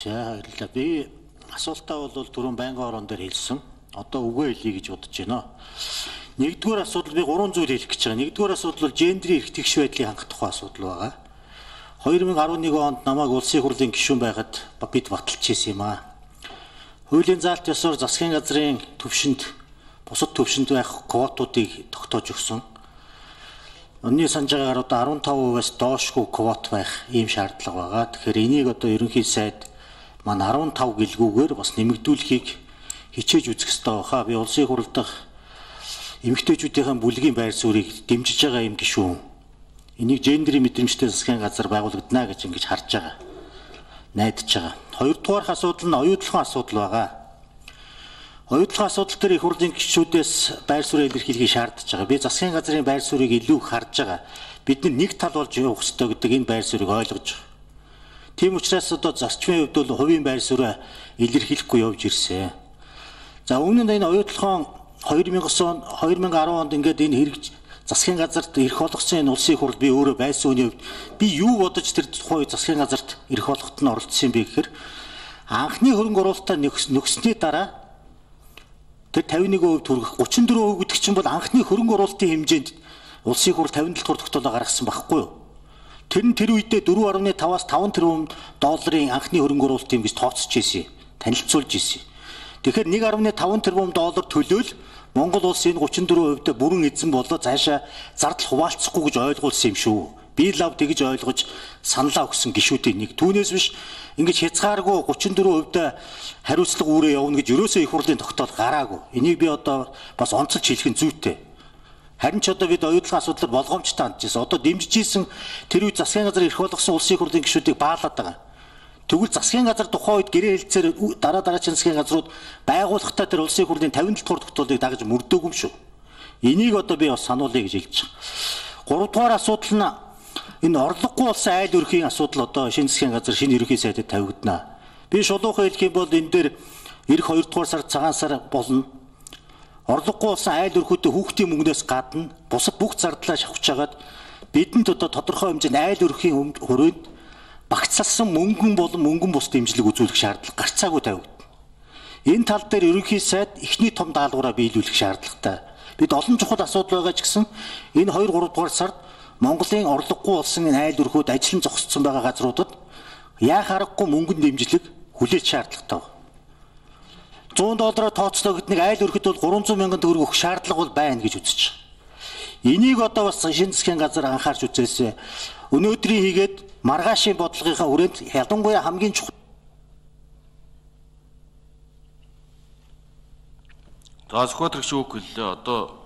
За баярлалаа. Би асуултаа бол түрүүн байнгын орон дээр хэлсэн. Одоо үгээ хэлье гэж бодож байна. Нэгдүгээр асуудал би 3 зүйл хэлэх гэж байгаа. Нэгдүгээр асуудал бол гендрийн эрх тэгш байдлыг хангах тухай асуудал байгаа. 2011 онд намайг улсын хурлын гишүүн байхад бид баталж ирсэн юм аа. Хуулийн заалт ёсоор засгийн газрын төвшөнд бусад төвшөнд байх квотуудыг тогтоож өгсөн. Өнний санаж байгаагаар одоо 15%-аас доошгүй квот байх ийм шаардлага байгаа. Тэгэхээр энийг одоо ерөнхий сайд маань 15 гэлгүүгээр бас нэмэгдүүлэхийг хичээж үзэх ёстой баха. Би улсын хурал дахь эмэгтэйчүүдийн бүлгийн байр суурийг дэмжиж байгаа юм гишүүн. Энийг гендрийн мэдрэмжтэй засгийн газар байгуулагдана гэж ингэж харж байгаа. Найдаж байгаа. Хоёрдугаар асуудал нь оюутлахын асуудал байгаа. Оюутлахын асуудал дээр их хурлын гишүүдээс байр суурийг илэрхийлэхийг шаардж байгаа. Би засгийн газрын байр суурийг илүү харж байгаа. Бид нэг тал болж явах ёстой гэдэг энэ байр суурийг ойлгож байгаа. Тийм учраас одоо зарчмын хувьд бол хувийн байр суурийг илэрхийлэхгүй явж ирсэн. За өмнө нь энэ оюутлахын 2010 онд ингээд энэ хэрэгж засгийн газарт эрх олгосон энэ улсын хурал би өөрөө байсан үний хувьд би юу бодож тэр тухай засгийн газарт эрх олгоход нь оролцсон юм бэ гэхээр анхны хөрөнгө оруулалтаа нөгснөний дараа тэр 51% хүргэх 34% гэдэг чинь бол анхны хөрөнгө оруулалтын хэмжээнд улсын хурал 57 дугаар тогтоолоо гаргасан байхгүй юу? Тэр нь тэр үедээ 4.5-аас 5 тэрбум долларын анхны хөрөнгө оруулалт юм гэж тооцож ирсэн, танилцуулж ирсэн. Тэгэхээр 1.5 тэрбум доллар төлөөл Монгол улс энэ 34%-д бүрэн эзэн болоо цаашаа зардал хуваалцахгүй гэж ойлгуулсан юм шүү. Би лав тэгж ойлгож саналаа өгсөн гишүүдийн нэг. Түүнээс биш ингэж хязгааргүй 34%-д хариуцлага үүрээ явна гэж ерөөсөө их хурлын тогтоол гараагүй. Энийг би одоо бас онцолж хэлэх нь зүйтэй. Харин ч одоо бид оюутлахын асуудлаар болгоомжтой хандж байсан. Одоо дэмжиж ийсэн тэр үе засгийн газар эрх болгосон улсын хурлын гишүүдийг баалаад байгаа. Тэгвэл засгийн газар тухайн үед гэрээ хэлцээр дараагийн засгийн газрууд байгуулахдаа тэр улсын хурлын 57 дугаар тогтоолыг дагаж мөрдөөгүй юм шүү. Энийг одоо би бас сануулъя гэж хэлж байгаа. 3 дугаар асуудал нь энэ орлогогүй болсон айл өрхийн асуудал одоо шинэ засгийн газар шинэ ерөнхий сайдад тавигдана. Би шулуухан хэлэх юм бол энэ дээр эх 2 дугаар сард цагаан сар болно. Орлогогүй болсон айл өрхөдөө хүүхдийн мөнгнөөс гадна бусад бүх зардлаа шавхаж хагаад бидэнд одоо тодорхой хэмжээний айл өрхийн хүрээнд багцлсан мөнгөн бус дэмжлэг үзүүлэх шаардлага гарцаагүй тавигдана. Энэ тал дээр ерөнхий сайд эхний том даалгавраа биелүүлэх шаардлагатай. Бид олон чухал асуудал байгаа ч гэсэн энэ 2-3 дугаар сард Монголын орлогогүй болсон энэ айл өрхөд ажиллан зогссон байгаа газруудад яах аргагүй мөнгөн дэмжлэг хүлээж шаардлагатай байна. 100 доллараар тооцлоо гэхэд нэг айл өрхөд бол 300 мянган төгрөг өгөх шаардлага бол байна гэж үзэж байгаа. Энийг одоо бас шинэ засгийн газар анхаарч үзээсэй. Өнөөдрийн хийгээд маргаашийн бодлогынхаа хүрээнд ялангуяа хамгийн чухал. За зөвхөн тэрч үг хэллээ. Одоо